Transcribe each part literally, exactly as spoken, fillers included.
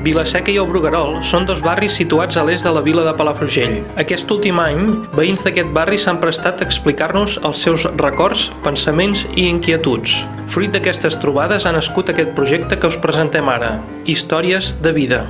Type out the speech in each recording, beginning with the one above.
Vila-seca i el Bruguerol són dos barris situats a l'est de la vila de Palafrugell. Aquest últim any, veïns d'aquest barri s'han prestat a explicar-nos els seus records, pensaments i inquietuds. Fruit d'aquestes trobades ha nascut aquest projecte que us presentem ara, Històries de vida.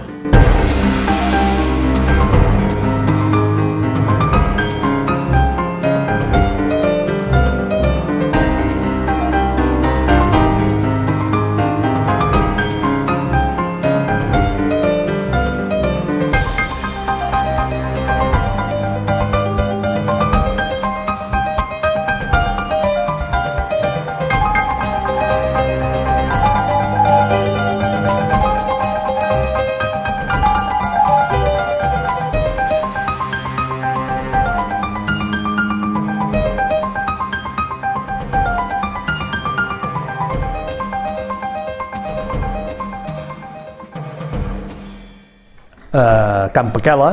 A Can Paquela,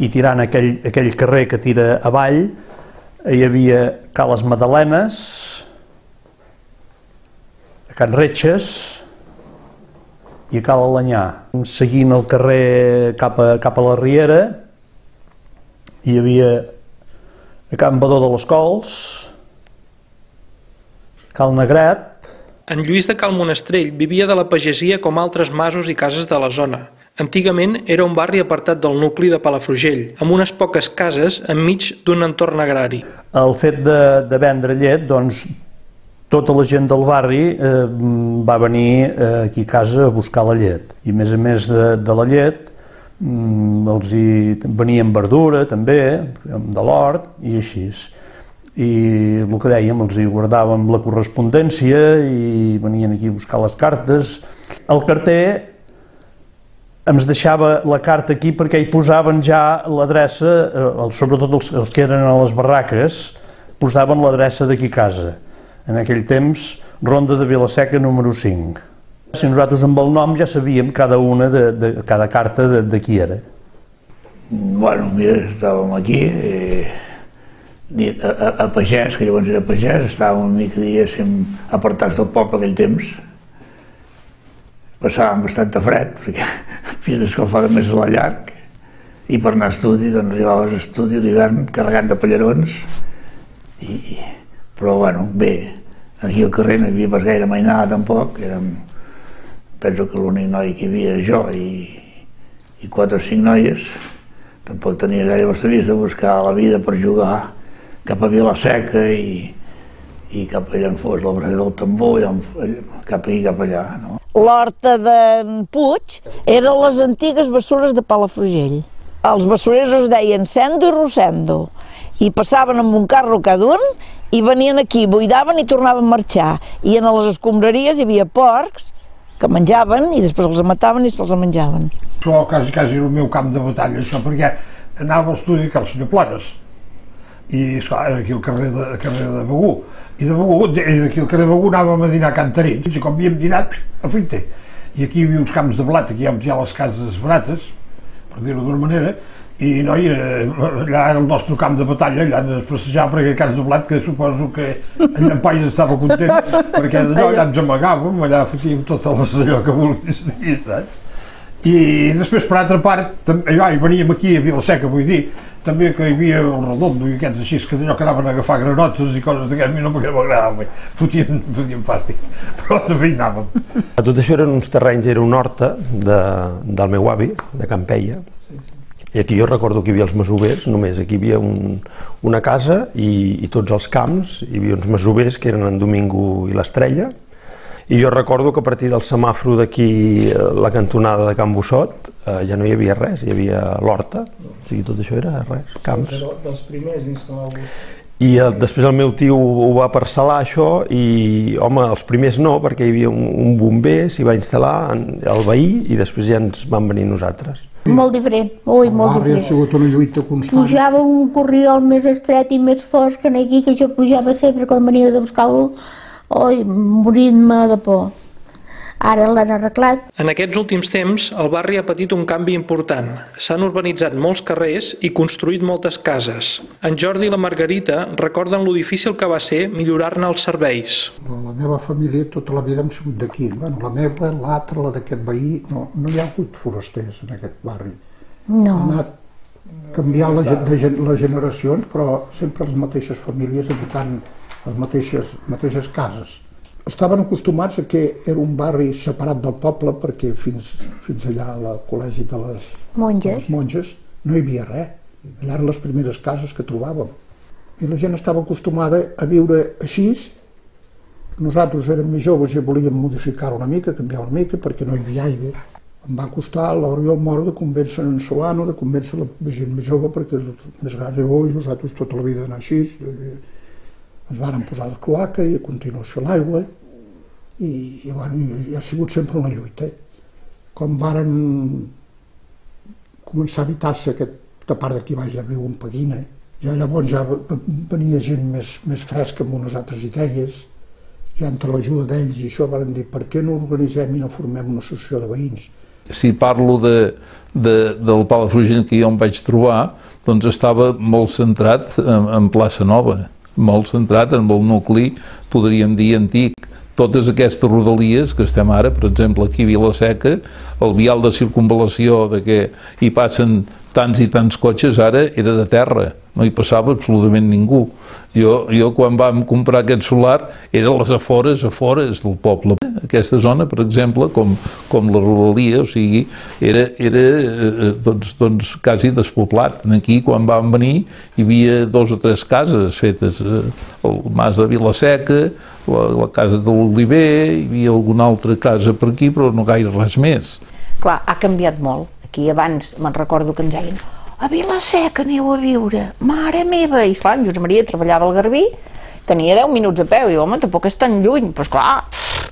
i tirant aquell, aquell carrer que tira avall, hi havia Ca les Madalenes, a Can Retxes i a Ca l'Alanyà. Seguint el carrer cap a, cap a la Riera, hi havia a Can Badó de les Cols, Cal Negret. En Lluís de Cal Monastrell vivia de la pagesia com altres masos i cases de la zona. Antigament era un barri apartat del nucli de Palafrugell, amb unes poques cases enmig d'un entorn agrari. El fet de, de vendre llet, doncs, tota la gent del barri eh, va venir eh, aquí a casa a buscar la llet. I a més a més de, de la llet, mm, els hi venien verdura també, de l'hort i així. I el que dèiem, els hi guardàvem la correspondència i venien aquí a buscar les cartes. El carter ens deixava la carta aquí perquè hi posaven ja l'adreça, sobretot els, els que eren a les barraques, posaven l'adreça d'aquí a casa. En aquell temps, Ronda de Vila-seca número cinc. Si nosaltres amb el nom ja sabíem cada una de, de cada carta de, de qui era. Bueno, mira, estàvem aquí, eh, a, a, a Pagès, que llavors era Pagès, estàvem una mica, diguéssim, apartats del poble aquell temps. Passàvem bastant fred, perquè havia d'escalfar més a la llarg, i per anar a estudi, doncs arribaves a estudi a l'hivern carregant de pallarons, i, però bueno, bé, aquí al carrer no hi havia pas gaire mainada tampoc, érem, penso que l'únic noi que hi havia era jo i, i quatre o cinc noies, tampoc tenia gaire bastaries de buscar la vida per jugar cap a Vila-seca i, i cap allà en fos la Brasa del Tambor, i cap aquí, cap allà, no? L'horta d'en Puig eren les antigues bessures de Palafrugell. Els bessurers es deien Sendo i Rosendo, i passaven amb un carro cada un i venien aquí, buidaven i tornaven a marxar. I en les escombraries hi havia porcs que menjaven i després els mataven i se'ls menjaven. Això quasi, quasi era el meu camp de batalla, això, perquè anava a estudi que el senyor Planes, i esclar, era aquí al carrer de, carrer de Begú, i de Begú, d'aquí al carrer de Begú anàvem a dinar a Can Tarins, i com havíem dinat, a Fuite, i aquí hi havia uns camps de blat, aquí hi ha les cases barates, per dir-ho d'una manera, i noi, allà era el nostre camp de batalla, allà ens passejàvem per aquell camp de blat, que suposo que en Llampaies estava content, perquè d'allò allà ens amagàvem, allà fotíem tot allò que vulguis dir, saps? I després, per altra part, també, hi veníem aquí a Vila-seca, vull dir, també que hi havia el Redondo i aquests així, que d'allò que anaven a agafar granotes i coses d'aquest, a mi no m'agradava, fotien, fotien fàstic, però també hi anàvem. Tot això eren uns terrenys, era una horta de, del meu avi, de Campeia, i aquí jo recordo que hi havia els masovers, només aquí hi havia un, una casa i, i tots els camps, hi havia uns masovers que eren en Domingo i l'Estrella, i jo recordo que a partir del semàforo d'aquí, la cantonada de Can Bossot, eh, ja no hi havia res, hi havia l'horta, o sigui, tot això era res, camps. Dels primers instal·lar-vos. I el, després el meu tio ho va parcel·lar això i, home, els primers no, perquè hi havia un, un bomber, s'hi va instal·lar el veí i després ja ens van venir nosaltres. Molt diferent, ui, molt diferent. Ha sigut una lluita constant. Pujava un corriol més estret i més fosc que aquí, que jo pujava sempre quan venia de buscar-lo, oi, morint-me de por. Ara l'han arreglat. En aquests últims temps, el barri ha patit un canvi important. S'han urbanitzat molts carrers i construït moltes cases. En Jordi i la Margarita recorden lo difícil que va ser millorar-ne els serveis. La meva família tota la vida hem sigut d'aquí. Bueno, la meva, l'altra, la d'aquest veí, no, no hi ha hagut forasters en aquest barri. No. Ha anat canviant les generacions, però sempre les mateixes famílies habitant les mateixes, mateixes cases. Estaven acostumats a que era un barri separat del poble perquè fins, fins allà al col·legi de les monges. les monges no hi havia res. Allà eren les primeres cases que trobàvem. I la gent estava acostumada a viure així. Nosaltres érem més joves i volíem modificar una mica, canviar una mica, perquè no hi havia aigua. Em va costar a l'Oriol Moro de convèncer en Solano, de convèncer la gent més jove, perquè més grans i bo, i nosaltres tota la vida anar així. Ens varen posar la cloaca i a continuació l'aigua, i, i, bueno, i ha sigut sempre una lluita. Com varen començar a habitar-se aquesta part d'aquí baix, ja viu un Peguina, ja llavors ja venia gent més, més fresca amb unes altres idees, ja entre l'ajuda d'ells i això varen dir per què no organitzem i no formem una associació de veïns. Si parlo de, de, del Palafrugell que jo em vaig trobar, doncs estava molt centrat en, en Plaça Nova, molt centrat en el nucli, podríem dir, antic. Totes aquestes rodalies que estem ara, per exemple, aquí a Vila-seca, el vial de circunvalació de què hi passen tants i tants cotxes ara era de terra, no hi passava absolutament ningú. Jo, jo quan vam comprar aquest solar era a les afores, afores del poble. Aquesta zona, per exemple, com, com la rodalia, o sigui, era, era doncs, doncs, quasi despoblat. Aquí, quan vam venir, hi havia dos o tres cases fetes, el mas de Vila-seca, la, la casa de l'Oliver, hi havia alguna altra casa per aquí, però no gaire res més. Clar, ha canviat molt. Aquí abans me'n recordo que ens deien a Vila-seca aneu a viure, mare meva, i esclar, en Josep Maria treballava al Garbí, tenia deu minuts a peu, i home, tampoc és tan lluny, però esclar,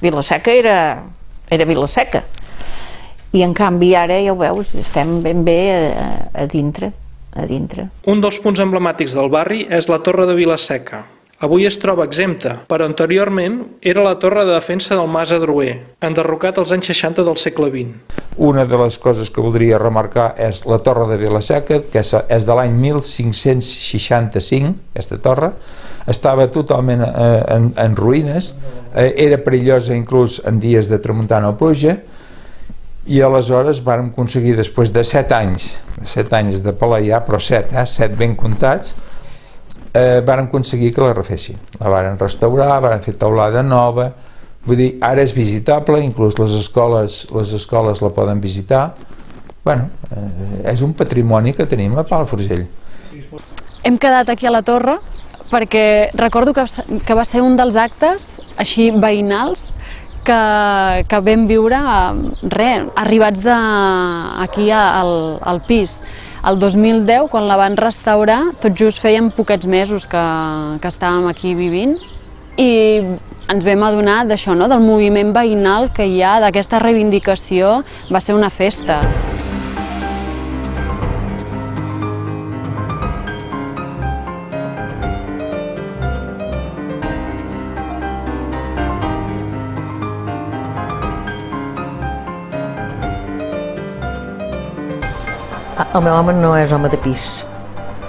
Vila-seca era, era Vila-seca. I en canvi ara, ja ho veus, estem ben bé a, a dintre, a dintre. Un dels punts emblemàtics del barri és la Torre de Vila-seca. Avui es troba exempta, però anteriorment era la torre de defensa del Mas Adroer, enderrocat als anys seixanta del segle vint. Una de les coses que voldria remarcar és la torre de Vila-seca, que és de l'any mil cinc-cents seixanta-cinc, aquesta torre, estava totalment eh, en, en ruïnes, eh, era perillosa inclús en dies de tramuntana o pluja, i aleshores vàrem aconseguir, després de set anys, set anys de pelear, però set, eh, set ben comptats, Eh, varen aconseguir que la refessin, la varen restaurar, varen fer teulada nova, vull dir, ara és visitable, inclús les escoles, les escoles la poden visitar. Bueno, eh, és un patrimoni que tenim a Palafrugell. Hem quedat aquí a la torre perquè recordo que, que va ser un dels actes així veïnals que, que vam viure re, arribats de, aquí al, al pis. El dos mil deu, quan la van restaurar, tot just feien poquets mesos que, que estàvem aquí vivint i ens vam adonar d'això, no? Del moviment veïnal que hi ha, d'aquesta reivindicació, va ser una festa. El meu home no és home de pis.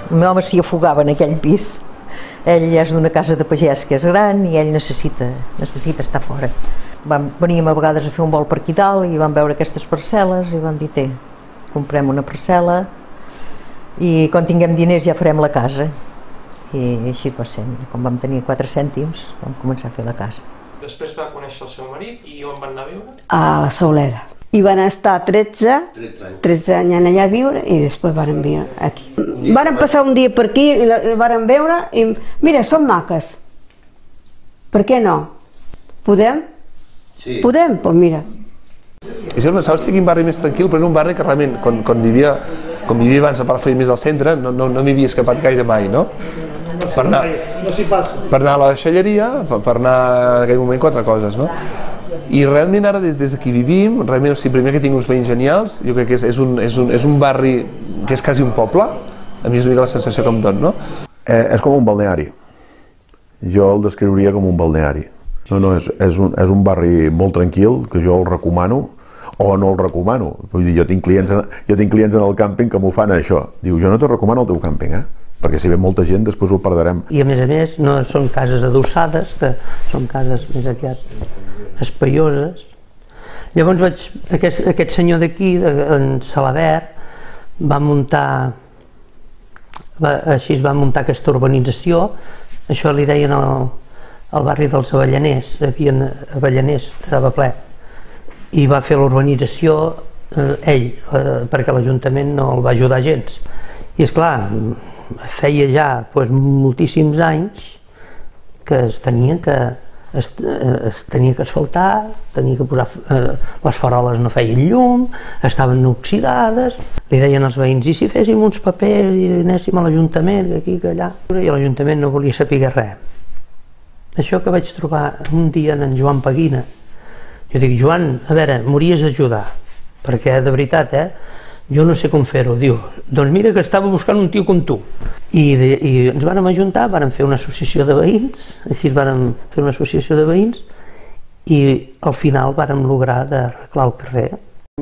El meu home s'hi afogava en aquell pis. Ell és d'una casa de pagès que és gran i ell necessita, necessita estar fora. Vam, veníem a vegades a fer un vol per aquí dalt i vam veure aquestes parcel·les i vam dir, té, comprem una parcel·la i quan tinguem diners ja farem la casa. I així va ser. Quan vam tenir quatre cèntims vam començar a fer la casa. Després va conèixer el seu marit i on van anar a viure? A la Sauleda. I van estar tretze, tretze anys allà a viure i després van viure aquí. Van passar un dia per aquí i la van veure i mira, són maques. Per què no? Podem? Sí. Podem? Doncs mira. I si pensava, hosti, quin barri més tranquil, però era un barri que realment, quan, quan, vivia, quan vivia abans a Palafrugell més al centre, no, no, no m'hi havia escapat gaire mai, no? Per anar, per anar a la deixalleria, per anar en aquell moment quatre coses, no? I realment ara, des, des d'aquí vivim, realment, o sigui, primer que tinc uns veïns genials, jo crec que és, és, un, és, un, és un barri que és quasi un poble, a mi és una mica la sensació que em dona, no? Eh, és com un balneari. Jo el descriuria com un balneari. No, no, és, és, un, és un barri molt tranquil, que jo el recomano, o no el recomano. Vull dir, jo tinc clients, en, jo tinc clients en el càmping que m'ho fan això. Diu, jo no te recomano el teu càmping, eh? Perquè si ve molta gent després ho perdrem. I a més a més no són cases adossades, que són cases més aviat espaioses. Llavors vaig, aquest, aquest senyor d'aquí, en Salabert, va muntar, va, així es va muntar aquesta urbanització, això li deien el, el barri dels Avellaners, hi havia Avellaners, estava ple, i va fer l'urbanització eh, ell, eh, perquè l'Ajuntament no el va ajudar gens. I esclar, feia ja doncs, moltíssims anys que es tenia que es, es tenia que asfaltar, tenia que posar eh, les faroles no feien llum, estaven oxidades, li deien als veïns, i si féssim uns papers i anéssim a l'Ajuntament, que aquí, que allà, i l'Ajuntament no volia saber res. Això que vaig trobar un dia en Joan Peguina, jo dic, Joan, a veure, m'hauries d'ajudar, perquè de veritat, eh, jo no sé com fer-ho. Diu, doncs mira que estava buscant un tio com tu. I, de, i ens vàrem ajuntar, vàrem fer una associació de veïns, així vàrem fer una associació de veïns, i al final vàrem lograr d'arreglar el carrer.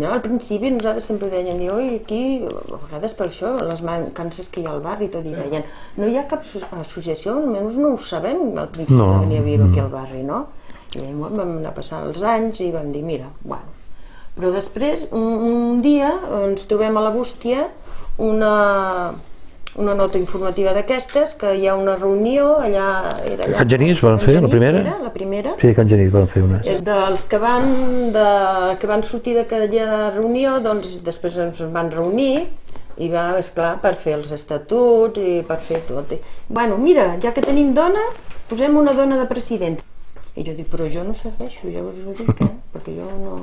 No, al principi nosaltres sempre deien, jo i aquí, a vegades per això, les mancances que hi ha al barri, tot i deien, no hi ha cap associació, almenys no ho sabem al principi no. de venir a viure aquí al barri, no? I vam anar passant els anys i vam dir, mira, bueno. Però després, un, un dia, ens trobem a la bústia una, una nota informativa d'aquestes, que hi ha una reunió allà... Era allà Can Genís van fer, la primera? Era, la primera. Sí, Can Genís van fer una. És dels que van, de, que van sortir d'aquella reunió, doncs després ens van reunir i va, esclar, per fer els estatuts i per fer tot. I, bueno, mira, ja que tenim dona, posem una dona de president. I jo dic, però jo no serveixo, ja us ho dic, eh? Perquè jo no...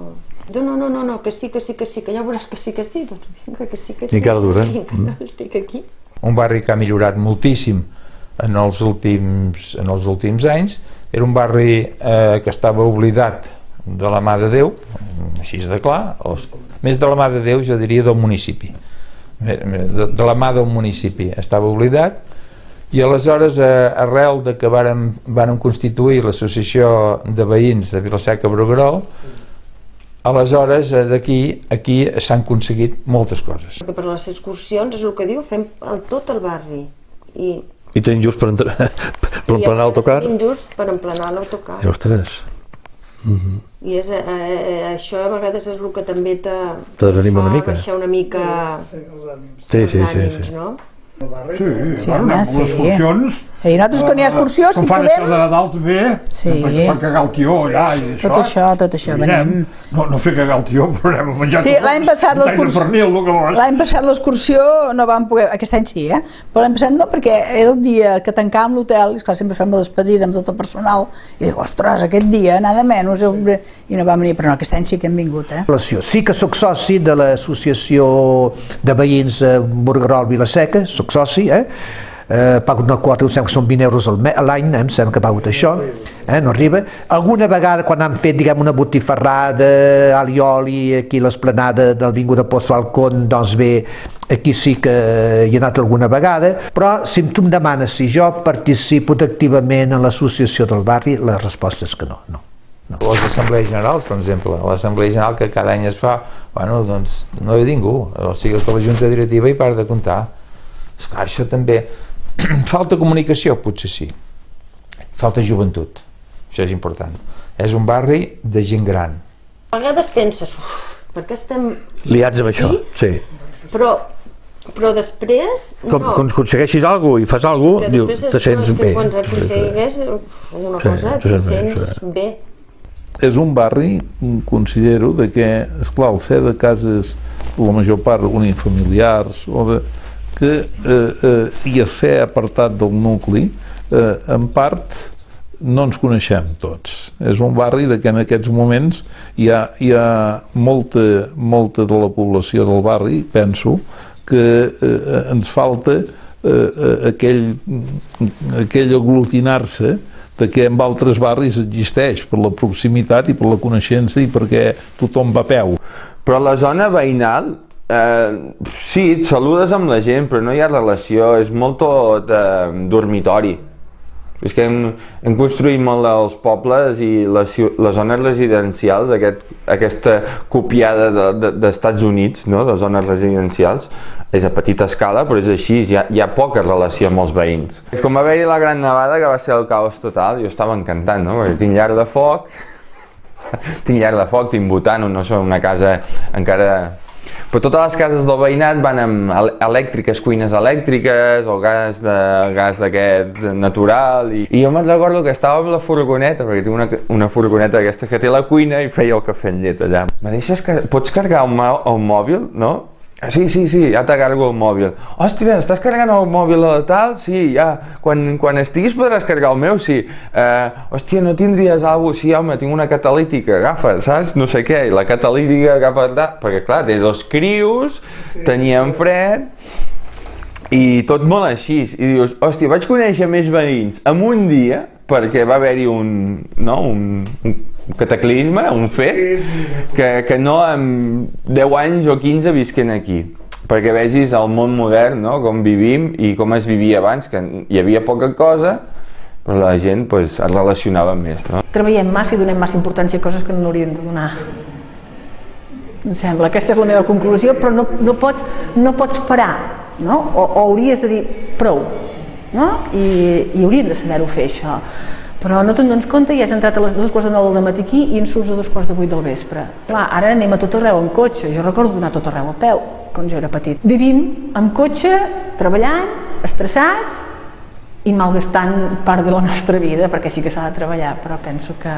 No, no, no, no, que sí, que sí, que sí, que ja veuràs que sí, que sí, doncs vinga, que sí, que sí. I encara dura. Vinga, estic aquí. Un barri que ha millorat moltíssim en els últims, en els últims anys. Era un barri eh, que estava oblidat de la mà de Déu, així de clar, o, més de la mà de Déu, jo diria del municipi. De, de la mà del municipi estava oblidat. I aleshores, arrel de que vàrem, vàrem constituir l'associació de veïns de Vila-seca-Bruguerol, aleshores d'aquí aquí s'han aconseguit moltes coses. Perquè per les excursions, és el que diu, fem el, tot el barri. I, I tenim just per, entrar, per emplenar l'autocar? I tenim just per emplenar l'autocar. Ostres. Uh -huh. I és, eh, això a vegades és el que també te desanima una mica. baixar una mica sí, els sí, ànims, sí, sí. no? Sí, sí, bueno, home, amb sí. les excursions... Sí, nosaltres quan hi ha excursió, si podem... Quan fan podem... això de Nadal també, sí. després fan cagar el tió allà i això... Tot això, tot això, venim... No, no fer cagar el tió, però anem a menjar... Sí, l'any passat l'excursió... L'any L'any passat l'excursió no vam poder... Aquest any sí, eh? Però l'any passat no, perquè era el dia que tancàvem l'hotel, i esclar, sempre fem la despedida amb tot el personal, i dic, ostres, aquest dia, nada menys, i no vam venir, però no, aquest any sí que hem vingut, eh? Sí que sóc soci de l'associació de veïns Bruguerol-Vila-seca, sóc soci, eh? Eh, pago una quota, em sembla que són vint euros a l'any, eh, em sembla que pago això, eh, no arriba. Alguna vegada quan han fet, diguem, una botifarrada, alioli, aquí a l'esplanada del Vinguda Pozo Alcón, doncs bé, aquí sí que hi he anat alguna vegada, però si tu em demanes si jo participo activament en l'associació del barri, la resposta és que no, no. No. Les assemblees generals, per exemple, l'assemblea general que cada any es fa, bueno, doncs no hi ha ningú, o sigui que la junta directiva hi para de comptar. Esclar, això també... Falta comunicació, potser sí. Falta joventut, això és important. És un barri de gent gran. A vegades penses, uf, per què estem... Liats amb això, sí. Però, però després... Com, no. Quan aconsegueixis alguna cosa i fas alguna cosa, diu, te sents bé. Quan aconsegueix una cosa, te sents bé. És un barri, considero, de que, esclar, el ser de cases, la major part unifamiliars, o de, que eh, eh, i a ser apartat del nucli, eh, en part no ens coneixem tots. És un barri de que en aquests moments hi ha, hi ha molta, molta de la població del barri, penso, que eh, ens falta eh, aquell, aquell aglutinar-se de que en altres barris existeix per la proximitat i per la coneixença i perquè tothom va a peu. Però la zona veïnal, eh, sí, et saludes amb la gent, però no hi ha relació, és molt tot eh, dormitori. És que hem, hem construït molt dels pobles i les, les zones residencials, aquest, aquesta copiada d'Estats de, de, Units, no? De zones residencials, és a petita escala, però és així, hi ha, hi ha poca relació amb els veïns. És com va haver-hi la Gran Nevada, que va ser el caos total, jo estava encantant, no? Perquè tinc llar de foc, tinc llar de foc, tinc butano, no són una casa encara... Però totes les cases del veïnat van amb elèctriques, cuines elèctriques o gas de gas d'aquest natural. I, i jo me'n recordo que estava amb la furgoneta, perquè tinc una, una furgoneta aquesta que té la cuina i feia el cafè amb llet allà. Me deixes, pots carregar el, el mòbil, no? Sí, sí, sí, ja te cargo el mòbil. Hòstia, estàs carregant el mòbil de tal? Sí, ja. Quan, quan estiguis podràs carregar el meu? Sí. Eh, hòstia, no tindries alguna cosa? Sí, home, tinc una catalítica, agafa, saps? No sé què, i la catalítica agafa... Perquè, clar, té dos crios, teníem fred, i tot molt així. I dius, hòstia, vaig conèixer més veïns en un dia, perquè va haver-hi un, no, un, un cataclisme, un fet, que, que no en deu anys o quinze visquen aquí. Perquè vegis el món modern, no? Com vivim i com es vivia abans, que hi havia poca cosa, però la gent pues, es relacionava més. No? Treballem massa i donem massa importància a coses que no hauríem de donar. Em sembla, aquesta és la meva conclusió, però no, no, pots, no pots parar, no? O, o hauries de dir prou, no? I, i hauríem de saber-ho fer, això. Però no te'n dones compte i has entrat a les dos quarts de nou del matí aquí i en surts a dos quarts de vuit del vespre. Clar, ara anem a tot arreu en cotxe, jo recordo d'anar a tot arreu a peu, quan jo era petit. Vivim amb cotxe, treballant, estressats i malgastant part de la nostra vida, perquè sí que s'ha de treballar, però penso que,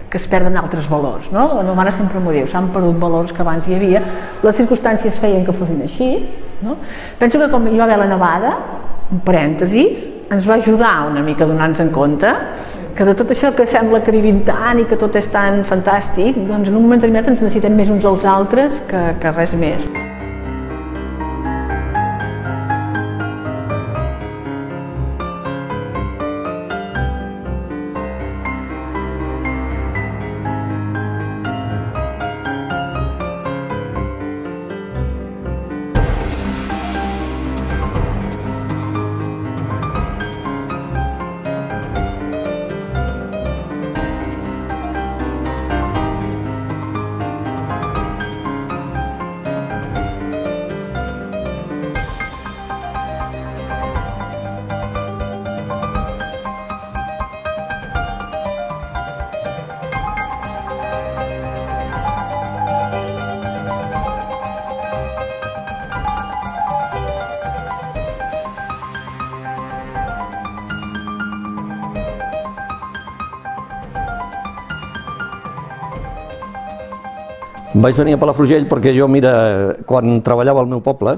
que es perden altres valors, no? La meva mare sempre m'ho diu, s'han perdut valors que abans hi havia, les circumstàncies feien que fossin així, no? Penso que com hi va haver la nevada, un parèntesis, ens va ajudar una mica a donar-nos en compte que de tot això que sembla que vivim tant i que tot és tan fantàstic, doncs en un moment determinat ens necessitem més uns als altres que, que res més. Vaig venir a Palafrugell perquè jo, mira, quan treballava al meu poble,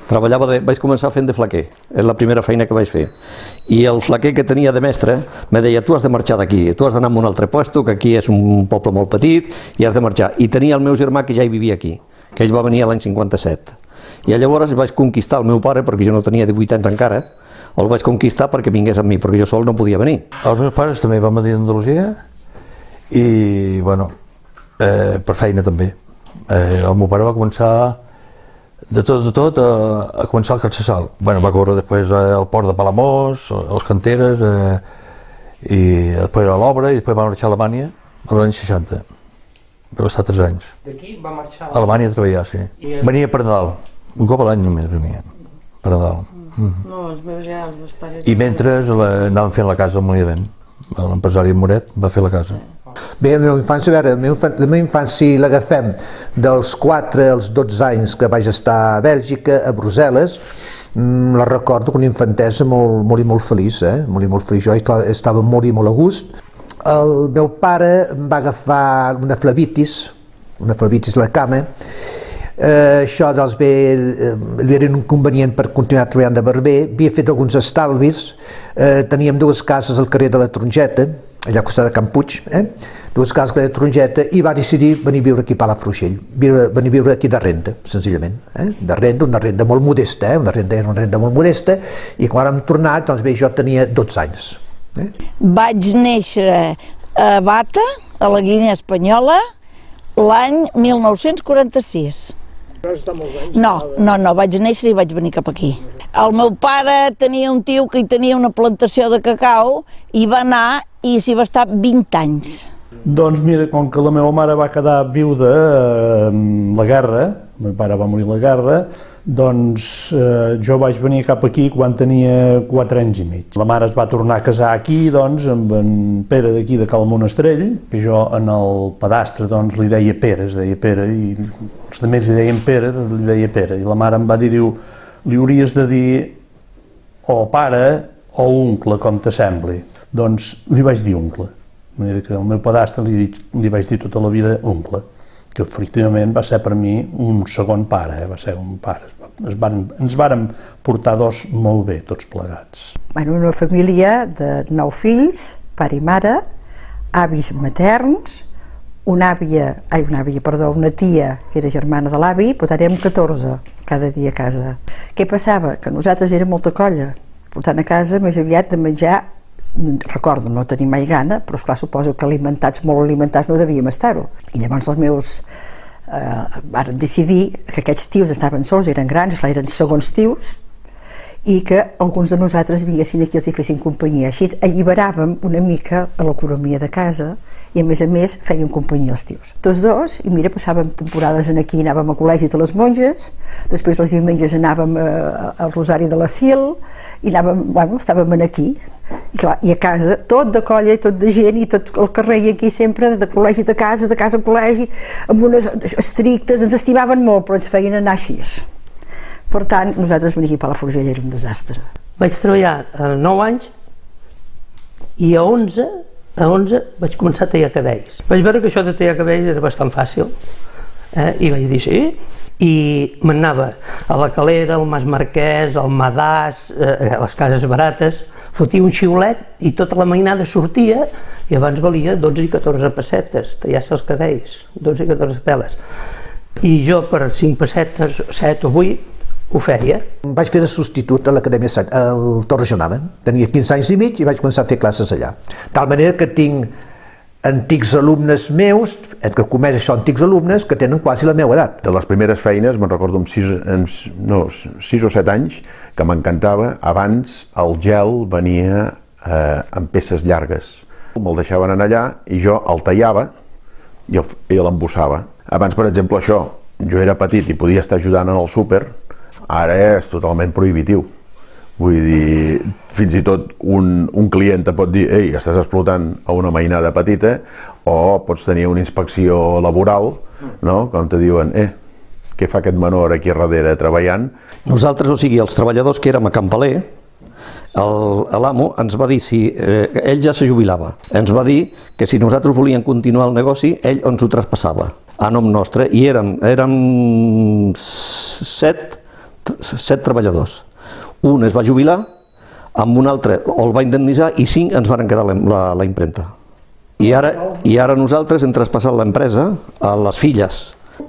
treballava de, vaig començar fent de flaquer, és la primera feina que vaig fer. I el flaquer que tenia de mestre me deia, tu has de marxar d'aquí, tu has d'anar a un altre puesto, que aquí és un poble molt petit, i has de marxar. I tenia el meu germà que ja hi vivia aquí, que ell va venir l'any cinquanta-set. I llavors vaig conquistar el meu pare, perquè jo no tenia divuit anys encara, el vaig conquistar perquè vingués amb mi, perquè jo sol no podia venir. Els meus pares també van venir d'Andalusia i, bueno, eh, per feina també. Eh, el meu pare va començar de tot, de tot, a, a començar al Catsasal. Bueno, va córrer després al port de Palamós, a les canteres, eh, i després a l'obra, i després va marxar a Alemanya als anys seixanta. Va estar tres anys. D'aquí va marxar a Alemanya a treballar, sí. I... Venia per Nadal, un cop a l'any només venia, per Nadal. Mm. No, els meus ja, els meus pares... I mentre la, anàvem fent la casa al Mollivent. L'empresari Moret va fer la casa. Bé, la meva infància, a veure, la meva infància, la meva infància si l'agafem dels quatre als dotze anys que vaig estar a Bèlgica, a Brussel·les, la recordo com una infantesa molt, molt i molt feliç, eh? Molt i molt feliç. Jo estava molt i molt a gust. El meu pare em va agafar una flebitis, una flebitis a la cama. Eh, això doncs bé, eh, era un inconvenient per continuar treballant de barber. Havia fet alguns estalvis, eh, teníem dues cases al carrer de la Trongeta, allà al costat de Can Puig, eh? dues cases de la Trongeta, i va decidir venir a viure aquí a Palafrugell, venir a viure aquí de renda, senzillament, eh? de renda, una renda molt modesta, eh? una renda és una renda molt modesta, i quan vam tornar, doncs bé, jo tenia dotze anys. Eh? Vaig néixer a Bata, a la Guinea Espanyola, l'any mil nou-cents quaranta-sis. Vas estar molts anys? No, no, no, vaig néixer i vaig venir cap aquí. El meu pare tenia un tio que hi tenia una plantació de cacau i va anar i s'hi va estar vint anys. Doncs mira, com que la meva mare va quedar viuda en la guerra, el meu pare va morir a la guerra, doncs eh, jo vaig venir cap aquí quan tenia quatre anys i mig. La mare es va tornar a casar aquí, doncs, amb en Pere d'aquí de Cal Monastrell, i jo en el pedastre, doncs, li deia Pere, es deia Pere, i els altres li deien Pere, li deia Pere, i la mare em va dir, diu, li hauries de dir o pare o oncle, com t'assembli. Doncs li vaig dir oncle. De manera que al meu pedastre li, li vaig dir tota la vida oncle, que efectivament va ser per mi un segon pare, eh? Va ser un pare. Es van, ens vàrem portar dos molt bé, tots plegats. Bueno, una família de nou fills, pare i mare, avis materns, una àvia, ai, una àvia, perdó, una tia que era germana de l'avi, però érem catorze cada dia a casa. Què passava? Que nosaltres érem molta colla, portant a casa més aviat de menjar, recordo, no tenir mai gana, però esclar, suposo que alimentats, molt alimentats no devíem estar-ho. I llavors els meus eh, varen decidir que aquests tios estaven sols, eren grans, eren segons tios, i que alguns de nosaltres vinguessin aquí i els hi fessin companyia. Així alliberàvem una mica a l'economia de casa i a més a més feien companyia als tios. Tots dos, i mira, passàvem temporades aquí, anàvem al col·legi de les monges, després els diumenges anàvem al Rosari de la Sil, i anàvem, bueno, estàvem aquí, i, clar, i a casa, tot de colla i tot de gent, i tot el carrer i aquí sempre, de col·legi de casa, de casa a col·legi, amb unes estrictes, ens estimaven molt, però ens feien anar així. Per tant, nosaltres venir aquí a Palafrugell era un desastre. Vaig treballar a nou anys i a onze, a onze vaig començar a tallar cabells. Vaig veure que això de tallar cabells era bastant fàcil, eh? I vaig dir sí, i m'anava a la Calera, al Mas Marquès, al Madàs, eh, a les cases barates, fotia un xiulet i tota la mainada sortia i abans valia dotze i catorze pessetes, tallar-se els cabells, dotze i catorze peles. I jo per cinc pessetes, set o vuit, ho feia. Vaig fer de substitut a l'Acadèmia al Torre Jonada. Tenia quinze anys i mig i vaig començar a fer classes allà. De tal manera que tinc antics alumnes meus, que comès això, antics alumnes, que tenen quasi la meva edat. De les primeres feines, me'n recordo amb sis, no, sis o set anys, que m'encantava. Abans el gel venia eh, en peces llargues. Me'l deixaven anar allà i jo el tallava i l'embossava. Abans, per exemple, això, jo era petit i podia estar ajudant en el súper, ara és totalment prohibitiu. Vull dir, fins i tot un, un client te pot dir ei, estàs explotant a una mainada petita, o pots tenir una inspecció laboral, no? Com te diuen, eh, què fa aquest menor aquí darrere treballant? Nosaltres, o sigui, els treballadors que érem a Campaler, l'amo ens va dir, si eh, ell ja se jubilava, ens va dir que si nosaltres volíem continuar el negoci, ell ens ho traspassava a nom nostre, i érem, érem set, set treballadors. Un es va jubilar, amb un altre el va indemnitzar i cinc ens van quedar la, la impremta. I ara, I ara nosaltres hem traspassat l'empresa a les filles.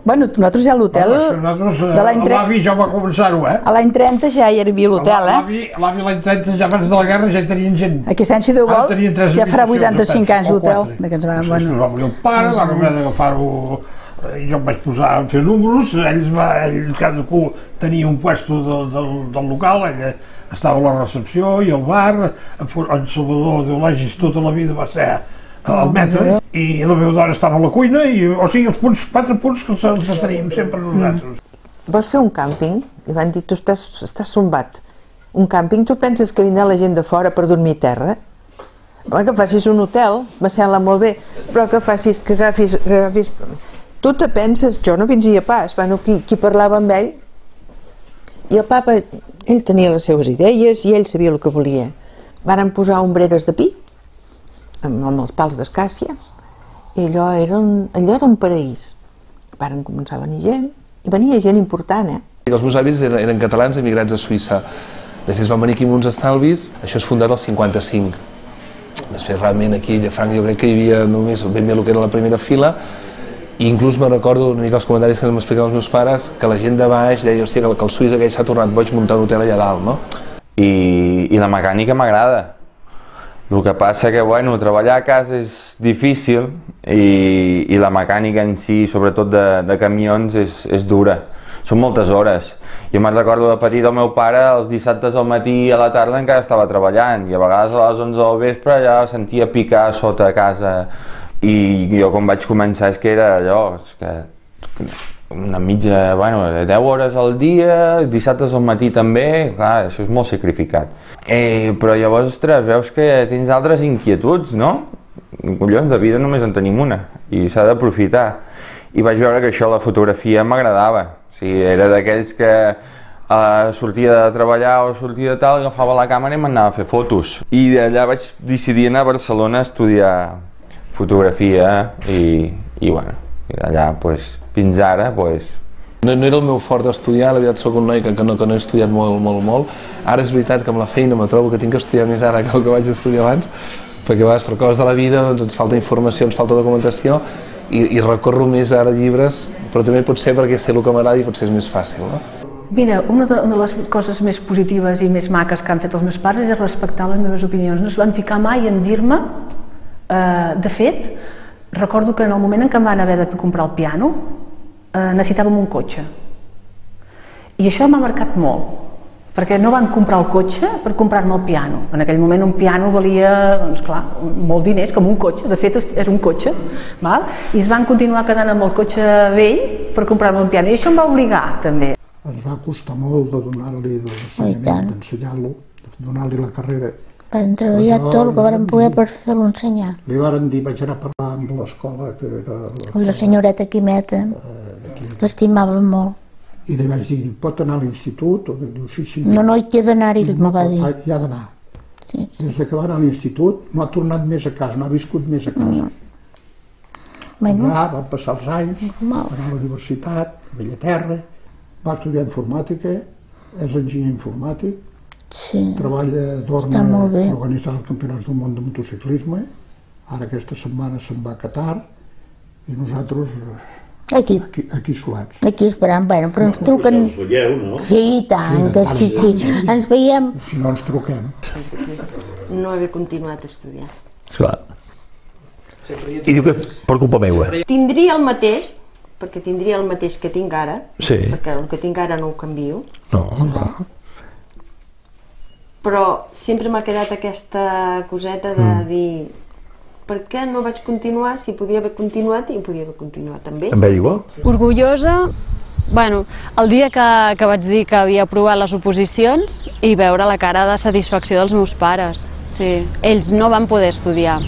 Bueno, nosaltres ja a l'hotel de l'any trenta... L'avi ja va començar-ho, eh? A l'any trenta ja hi havia l'hotel, eh? L'avi l'any trenta, ja abans de la guerra, ja tenien gent. Aquest any, si Déu vol, ja farà vuitanta-cinc anys l'hotel. Després va morir el pare, van haver d'agafar-ho... Jo em vaig posar a fer números, ells, va, ells cadascú tenia un puesto de, de, del local, ella estava a la recepció i al bar, en Salvador Deolagis tota la vida va ser al metre, i la meva dona estava a la cuina, i, o sigui, els punts, quatre punts que els teníem sempre nosaltres. Vols fer un càmping? I van dir, tu estàs, estàs sombat. Un càmping, tu penses que vindrà la gent de fora per dormir a terra? Home, que facis un hotel, me sembla molt bé, però que facis, que agafis, que agafis... Tu te penses, jo no vindria pas, bueno, qui, qui parlava amb ell, i el papa, ell tenia les seves idees i ell sabia el que volia. Varen posar ombreres de pi, amb, amb els pals d'escàcia, i allò era, un, allò era un paraís. Varen començar a venir gent, i venia gent important, eh? Els meus avis eren, eren catalans emigrats a Suïssa. Després van venir aquí amb uns estalvis, això és fundat al cinquanta-cinc. Després realment aquí a Llafranc jo crec que hi havia només ben bé el que era la primera fila, i inclús me recordo una mica els comentaris que m'explicaven els meus pares, que la gent de baix deia, hòstia, que el suís aquell s'ha tornat boig muntar un hotel allà dalt, no? I, i la mecànica m'agrada. El que passa que, bueno, treballar a casa és difícil i, i la mecànica en si, sobretot de, de camions, és, és dura. Són moltes hores Jo me'n recordo de petit el meu pare els dissabtes al matí i a la tarda encara estava treballant i a vegades a les onze del vespre ja sentia picar sota a casa i jo quan vaig començar és que era allò, és que una mitja, bueno, deu hores al dia, dissabtes al matí també, clar, això és molt sacrificat. Eh, però llavors, ostres, veus que tens altres inquietuds, no? Collons, de vida només en tenim una i s'ha d'aprofitar. I vaig veure que això, la fotografia, m'agradava. O sigui, era d'aquells que eh, sortia de treballar o sortia de tal, agafava la càmera i m'anava a fer fotos. I d'allà vaig decidir anar a Barcelona a estudiar fotografia i, i bueno, i d'allà, pues, fins ara, pues... No, no era el meu fort estudiar, la veritat soc un noi que, que, no, que no he estudiat molt, molt, molt. Ara és veritat que amb la feina me trobo que tinc que estudiar més ara que el que vaig estudiar abans, perquè a vegades per coses de la vida doncs, ens falta informació, ens falta documentació i, i recorro més ara llibres, però també pot ser perquè sé el que m'agrada i potser és més fàcil, no? Mira, una de, una de les coses més positives i més maques que han fet els meus pares és respectar les meves opinions. No es van ficar mai en dir-me, eh, de fet, recordo que en el moment en què em van haver de comprar el piano, eh, necessitàvem un cotxe. I això m'ha marcat molt, perquè no van comprar el cotxe per comprar-me el piano. En aquell moment un piano valia, doncs clar, molt diners, com un cotxe, de fet és un cotxe, val? I es van continuar quedant amb el cotxe vell per comprar-me un piano, i això em va obligar, també. Ens va costar molt de donar-li l'ensenyament, d'ensenyar-lo, de donar-li la carrera. Vam treballar tot el que vam poder per fer-lo ensenyar. Li varen dir, vaig anar a parlar amb l'escola, que era... Ui, la senyoreta Quimeta, l'estimava molt. I li vaig dir, pot anar a l'institut? Diu, sí, sí. No, no, hi té d'anar-hi, me va dir. Hi ha d'anar. Des que va anar a l'institut no ha tornat més a casa, no ha viscut més a casa. Allà van passar els anys, va anar a la universitat, a Bellaterra, va estudiar informàtica, és enginyer informàtic, treballa d'Orna organitzant els campionats del món de motociclisme, ara aquesta setmana se'n va a Qatar i nosaltres aquí, aquí solats. Aquí esperant, bueno, però ens truquen... Us veieu, no? Sí, i tant, que sí, sí, ens veiem. Si no ens truquem. No haver continuat a estudiar. Clar. I diu que per culpa meva. Tindria el mateix, perquè tindria el mateix que tinc ara, sí. Perquè el que tinc ara no ho canvio. No, no. Però sempre m'ha quedat aquesta coseta de mm. dir per què no vaig continuar si podia haver continuat i podia haver continuat també. Amb ell igual? Orgullosa, bueno, el dia que, que vaig dir que havia aprovat les oposicions i veure la cara de satisfacció dels meus pares. Sí. Ells no van poder estudiar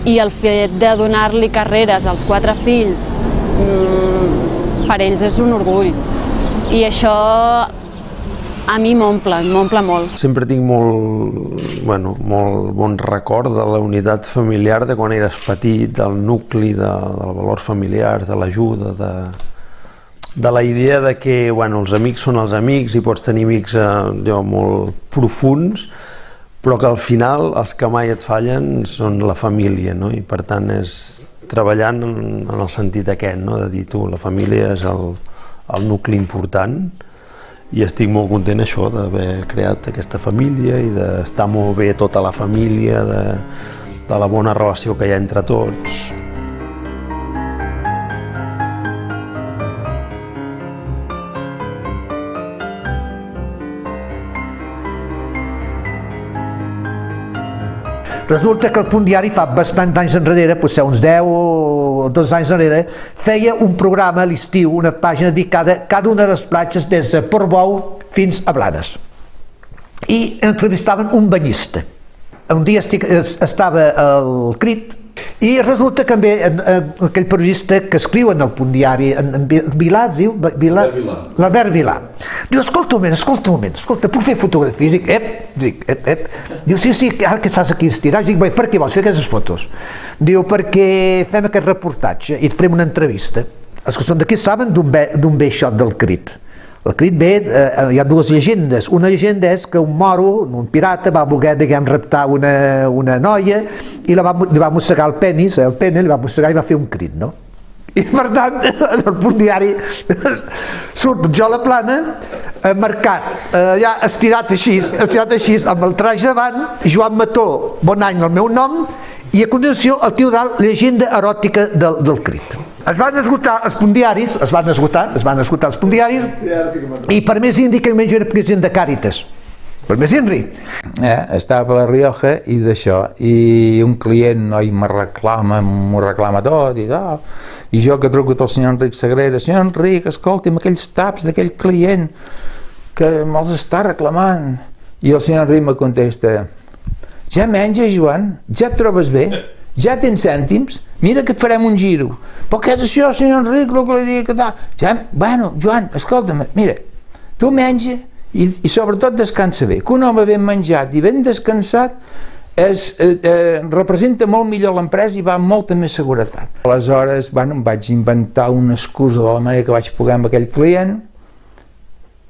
i el fet de donar-li carreres als quatre fills mmm, per ells és un orgull i això a mi m'omple, m'omple molt. Sempre tinc molt, bueno, molt bon record de la unitat familiar de quan eres petit, del nucli, de, del valor familiar, de l'ajuda, de, de la idea de que bueno, els amics són els amics i pots tenir amics eh, molt profunds, però que al final els que mai et fallen són la família, no? I per tant és treballant en, en el sentit aquest, no? De dir tu, la família és el, el nucli important. I estic molt content això d'haver creat aquesta família i d'estar molt bé tota la família, de, de la bona relació que hi ha entre tots. Resulta que el Punt Diari fa bastant d'anys enrere, potser uns deu o dos anys enrere, feia un programa a l'estiu, una pàgina dedicada a cada una de les platges des de Portbou fins a Blanes. I entrevistaven un banyista. Un dia estic, estava al Crit i resulta que també en, en, aquell periodista que escriu en el Punt Diari, en, en Vilà, es diu? Vilà, L'Albert Vilà. Diu, escolta un moment, escolta un moment, escolta, puc fer fotografies? Dic, ep, dic, ep, ep. Diu, sí, sí, ara que estàs aquí estirat. Dic, bé, per què vols fer aquestes fotos? Diu, perquè fem aquest reportatge i et farem una entrevista. Els que són d'aquí saben d'un vell shot del Crit. El Crit ve, eh, hi ha dues llegendes. Una llegenda és que un moro, un pirata, va voler, diguem, raptar una, una noia i la va, li va mossegar el penis, el pene, li va mossegar i va fer un crit, no? I per tant, en el Punt Diari surt jo a la plana, eh, marcat, eh, ja estirat així, estirat així, amb el traje davant, Joan Mató, bon any el meu nom, i a continuació el tio dalt, llegenda eròtica del, del Crit. es van esgotar els pundiaris, es van esgotar, es van esgotar els pundiaris, i per més indi que jo era president de Càritas. Per més indi. Eh, estava a la Rioja i d'això, i un client oi, me reclama, m'ho reclama tot, i, oh, i jo que truco al senyor Enric Sagrera, senyor Enric, escolti'm, aquells taps d'aquell client que me'ls està reclamant. I el senyor Enric me contesta, ja menges, Joan? Ja et trobes bé? Ja tens cèntims? Mira que et farem un giro. Però què és això, senyor Enric, el que li dic? Ja, bueno, Joan, escolta'm, mira, tu menja i, i sobretot descansa bé. Que un home ben menjat i ben descansat es, eh, eh, representa molt millor l'empresa i va amb molta més seguretat. Aleshores, bueno, em vaig inventar una excusa de la manera que vaig poder amb aquell client,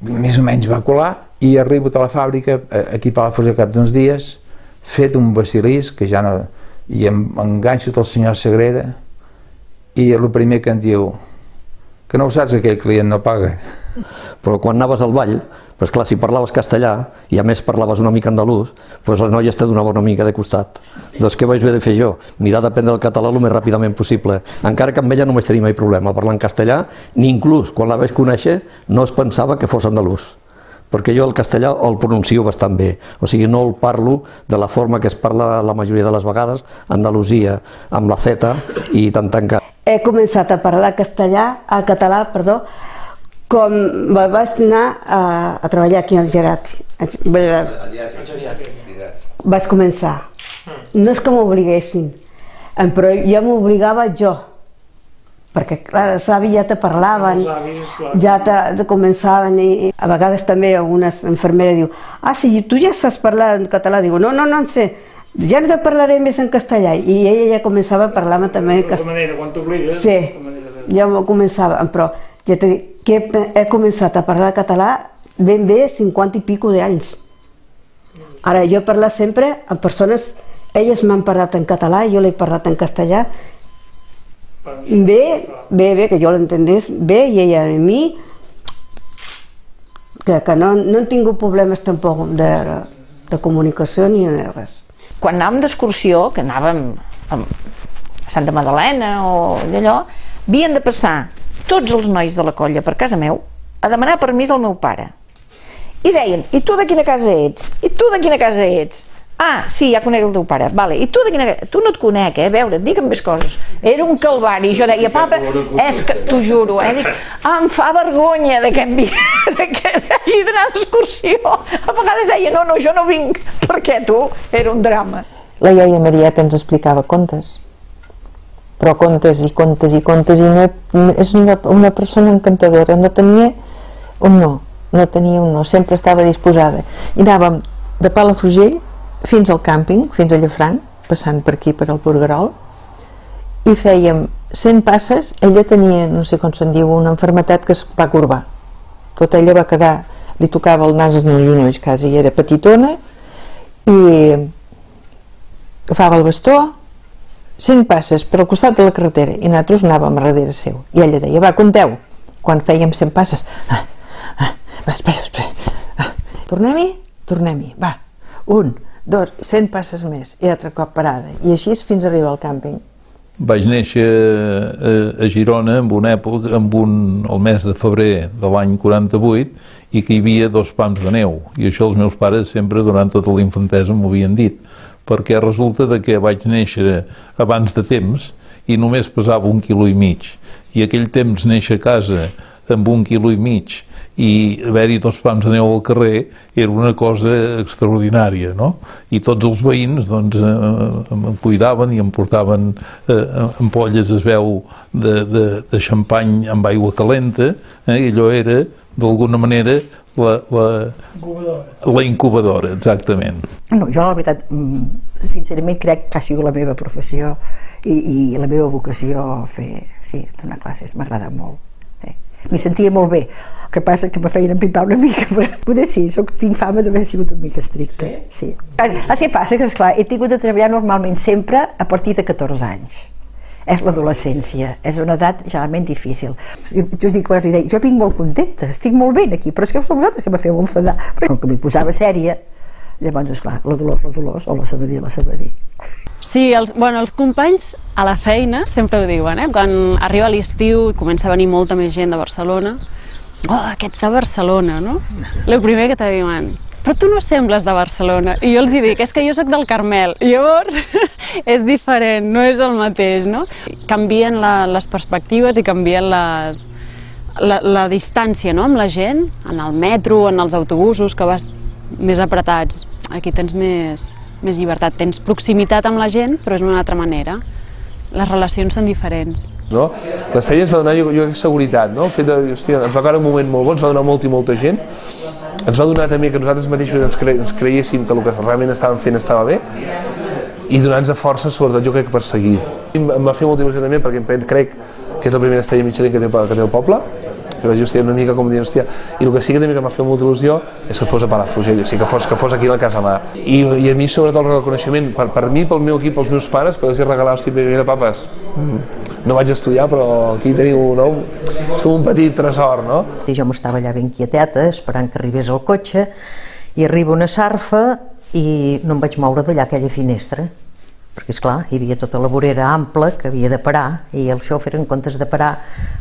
més o menys va colar, i arribo a la fàbrica, aquí a Palafrugell, cap d'uns dies, fet un basilisc, que ja no... i em enganxo del senyor Sagrera, i el primer que em diu, que no ho saps, aquell client no paga. Però quan anaves al ball, doncs clar, si parlaves castellà, i a més parlaves una mica andalús, doncs la noia es te donava una mica de costat. Doncs què vaig haver de fer jo? Mirar d'aprendre el català el més ràpidament possible. Encara que amb ella no vaig tenir mai problema parlar en castellà, ni inclús quan la vaig conèixer no es pensava que fos andalús, perquè jo el castellà el pronuncio bastant bé, o sigui, no el parlo de la forma que es parla la majoria de les vegades a Andalusia, amb la Z i tant tancat. He començat a parlar castellà, a català, perdó, com vaig anar a, a treballar aquí al Gerat. Vaig començar. No és que m'obliguessin, però jo m'obligava jo, perquè clar, els avis ja te parlaven, ja te, te començaven, i a vegades també una infermera diu, ah, si tu ja saps parlar en català, diu, no, no, no en sé, ja no te parlaré més en castellà, i ella ja començava a parlar-me també en castellà. De manera, quan t'obligues. Sí, ja començava, però ja te dic que he començat a parlar català ben bé cinquanta i pico d'anys. Ara, jo he parlat sempre amb persones, elles m'han parlat en català, jo l'he parlat en castellà, bé, bé, bé, que jo l'entendés bé, i ella a mi, que, que no, no han tingut problemes tampoc de, de comunicació ni de res. Quan anàvem d'excursió, que anàvem a Santa Madalena o d'allò, havien de passar tots els nois de la colla per casa meu a demanar permís al meu pare. I deien, i tu de quina casa ets? I tu de quina casa ets? Ah, sí, ja conec el teu pare. Vale. I tu de quina... Tu no et conec, eh? A veure, digue'm més coses. Era un calvari. Jo deia, papa, és que... T'ho juro, eh? Dic, ah, em fa vergonya de que, em... de que hagi d'anar d'excursió. A vegades deia, no, no, jo no vinc. Perquè tu, era un drama. La iaia Marieta ens explicava contes. Però contes i contes i contes, i no, és una, una persona encantadora. No tenia un no. No tenia un no. Sempre estava disposada. I anàvem de Palafrugell fins al càmping, fins a Llafranc, passant per aquí, per al Porguerol, i fèiem cent passes. Ella tenia, no sé com se'n diu, una malaltia que es va corbar. Tot ella va quedar, li tocava el nas en els genolls, quasi, i era petitona, i agafava el bastó, cent passes per al costat de la carretera, i nosaltres anàvem a darrere seu. I ella deia, va, compteu, quan fèiem cent passes. Ah, ah, va, espera, espera. Ah, tornem-hi? Tornem-hi, va, un, dos, cent passes més, i altre cop parada, i així fins a arribar al càmping. Vaig néixer a, a Girona en una època, en un, el mes de febrer de l'any quaranta-vuit, i que hi havia dos pams de neu, i això els meus pares sempre durant tota la infantesa m'ho havien dit, perquè resulta de que vaig néixer abans de temps i només pesava un quilo i mig, i aquell temps néixer a casa amb un quilo i mig i haver-hi dos pams de neu al carrer era una cosa extraordinària, no? I tots els veïns doncs em cuidaven i em portaven ampolles, es veu, de, de, de xampany amb aigua calenta, eh? I allò era, d'alguna manera, la, la, la incubadora, exactament. No, jo la veritat, sincerament crec que ha sigut la meva professió i, i la meva vocació fer, sí, donar classes, m'ha agradat molt. M'hi sentia molt bé, el que passa que me feien empipar una mica, però poder sí, soc, tinc fama d'haver sigut una mica estricta, sí. El que passa que, esclar, he tingut de treballar normalment sempre a partir de catorze anys. És l'adolescència, és una edat generalment difícil. Jo, jo, dic, jo vinc molt contenta, estic molt bé aquí, però és que sou vosaltres que me feu enfadar. Però com que m'hi posava sèria, Llavors, esclar, la Dolors, la Dolors, o la Sabadí, la Sabadí. Sí, els, bueno, els companys a la feina sempre ho diuen, eh? Quan arriba l'estiu i comença a venir molta més gent de Barcelona, oh, aquests de Barcelona, no? El primer que te diuen, però tu no sembles de Barcelona. I jo els hi dic, és que jo sóc del Carmel. I llavors és diferent, no és el mateix, no? Canvien la, les perspectives i canvien les, la, la distància, no?, amb la gent, en el metro, en els autobusos, que vas més apretats. Aquí tens més, més llibertat, tens proximitat amb la gent, però és d'una altra manera. Les relacions són diferents. No? L'Estella ens va donar, jo, jo crec, seguretat, no? El fet de, hòstia, ens va caure un moment molt bo, ens va donar molta i molta gent, ens va donar també que nosaltres mateixos ens, cre ens creiéssim que el que realment estàvem fent estava bé, i donar-nos força, sobretot, jo crec, per seguir. Em va fer molta il·lusió també, perquè crec que és la primera Estella Michelin que té, que té el poble, que vaig estar una mica com dient, hòstia, i el que sí que també que m'ha fet molta il·lusió és que fos a Palafrugell, o sigui, que fos, que fos aquí a la Casa Mar. I, i a mi, sobretot, el reconeixement, per, per mi, pel meu equip, pels meus pares, per els regalar, hòstia, mira, papes, no vaig estudiar, però aquí teniu, no? És com un petit tresor, no? I jo m'estava allà ben quieteta, esperant que arribés el cotxe, i arriba una sarfa i no em vaig moure d'allà aquella finestra, perquè, esclar, hi havia tota la vorera ampla que havia de parar, i el xòfer, en comptes de parar,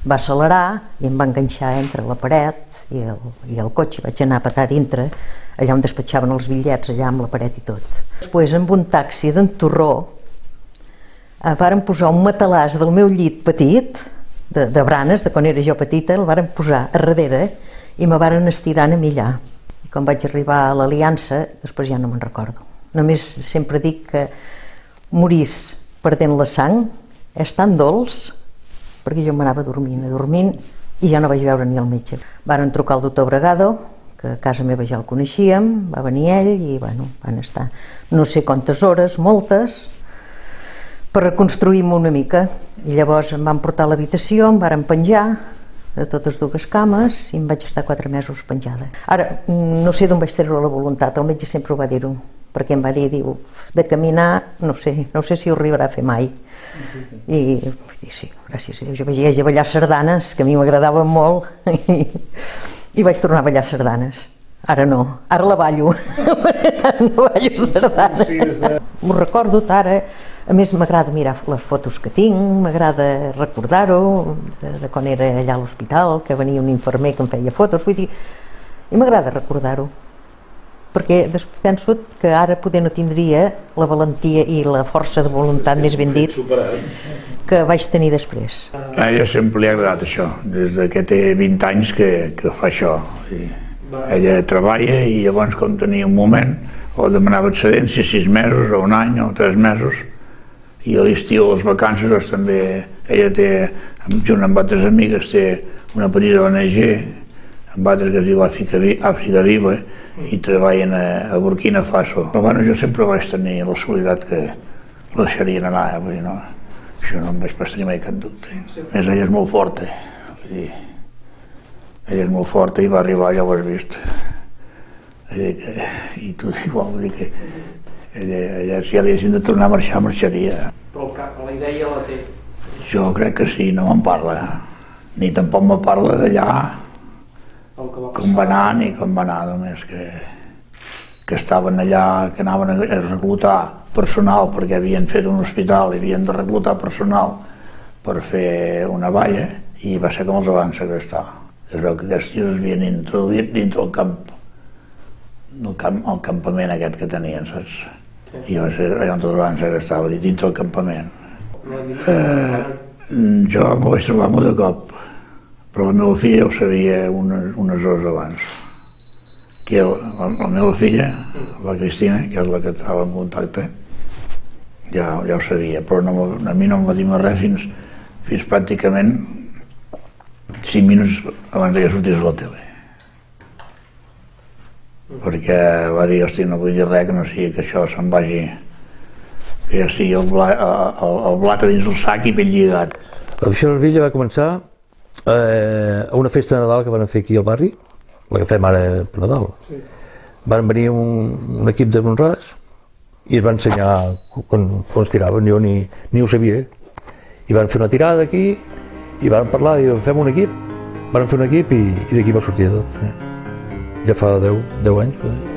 va accelerar i em va enganxar entre la paret i el, i el cotxe. Vaig anar a petar dintre, allà on despatxaven els bitllets, allà amb la paret i tot. Després, amb un taxi d'en Torró, eh, varen posar un matalàs del meu llit petit, de, de branes, de quan era jo petita, el varen posar a darrere i me varen estirant a mi allà. I quan vaig arribar a l'Aliança, després ja no me'n recordo. Només sempre dic que morís perdent la sang és tan dolç, perquè jo m'anava dormint, dormint, i ja no vaig veure ni el metge. Varen trucar al doctor Bregado, que a casa meva ja el coneixíem, va venir ell i, bueno, van estar no sé quantes hores, moltes, per reconstruir-me una mica. I llavors em van portar a l'habitació, em varen penjar de totes dues cames i em vaig estar quatre mesos penjada. Ara, no sé d'on vaig treure la voluntat, el metge sempre ho va dir-ho, perquè em va dir, diu, de caminar, no sé, no sé si ho arribarà a fer mai. I, i sí, gràcies a Déu, jo vaig de ballar sardanes, que a mi m'agradaven molt, i, i vaig tornar a ballar sardanes. Ara no, ara la ballo, no ballo sardanes. M'ho recordo ara, a més m'agrada mirar les fotos que tinc, m'agrada recordar-ho, de, de quan era allà a l'hospital, que venia un infermer que em feia fotos, vull dir, i m'agrada recordar-ho. Perquè penso que ara poder no tindria la valentia i la força de voluntat, més ben dit, que vaig tenir després. A ella sempre li ha agradat això, des que té vint anys que, que fa això. I ella treballa i llavors, com tenia un moment, o demanava excedència sis mesos, o un any, o tres mesos, i a l'estiu, a les vacances, doncs, també ella té, junt amb altres amigues, té una petita O N G, amb altres que es diu Àfrica Viva, i treballen a, a Burkina Faso. Però bueno, jo sempre vaig tenir la seguretat que la deixarien anar, eh? Vull dir, no, això no em vaig pas tenir mai cap dubte. A més, ella és molt forta, vull dir, ella és molt forta i va arribar, ja ho has vist. Que, i tu igual, vull dir que ella, ella, si ja li haguessin de tornar a marxar, marxaria. Però el cap, la idea la té. Jo crec que sí, no me'n parla, ni tampoc me parla d'allà, com va anar ni com va anar, només que, que estaven allà, que anaven a reclutar personal perquè havien fet un hospital i havien de reclutar personal per fer una valla i va ser com els van segrestar. Es veu que aquests tios es havien introduït dintre el camp, el, camp, el campament aquest que tenien, saps? I va ser allà on els van segrestar, va dir, dintre el campament. Eh, jo m'ho vaig trobar molt de cop, però la meva filla ho sabia unes, unes hores abans. Que la, la meva filla, la Cristina, que és la que estava en contacte, ja, ja ho sabia, però no, a mi no em va dir més res fins, fins pràcticament cinc minuts abans que sortís a la tele. Perquè va dir, hosti, no vull dir res que no sigui que això se'n vagi, que ja estigui el, bla, el, el blat a dins el sac i ben lligat. La Festa Vella va començar eh, a una festa de Nadal que van fer aquí al barri, la que fem ara per Nadal. Sí. Van venir un, un equip de Bonràs i es van ensenyar com, com es tiraven, jo ni, ni ho sabia. I van fer una tirada aquí i van parlar, i fem un equip, van fer un equip i, i d'aquí va sortir tot. Eh? Ja fa deu anys. Eh?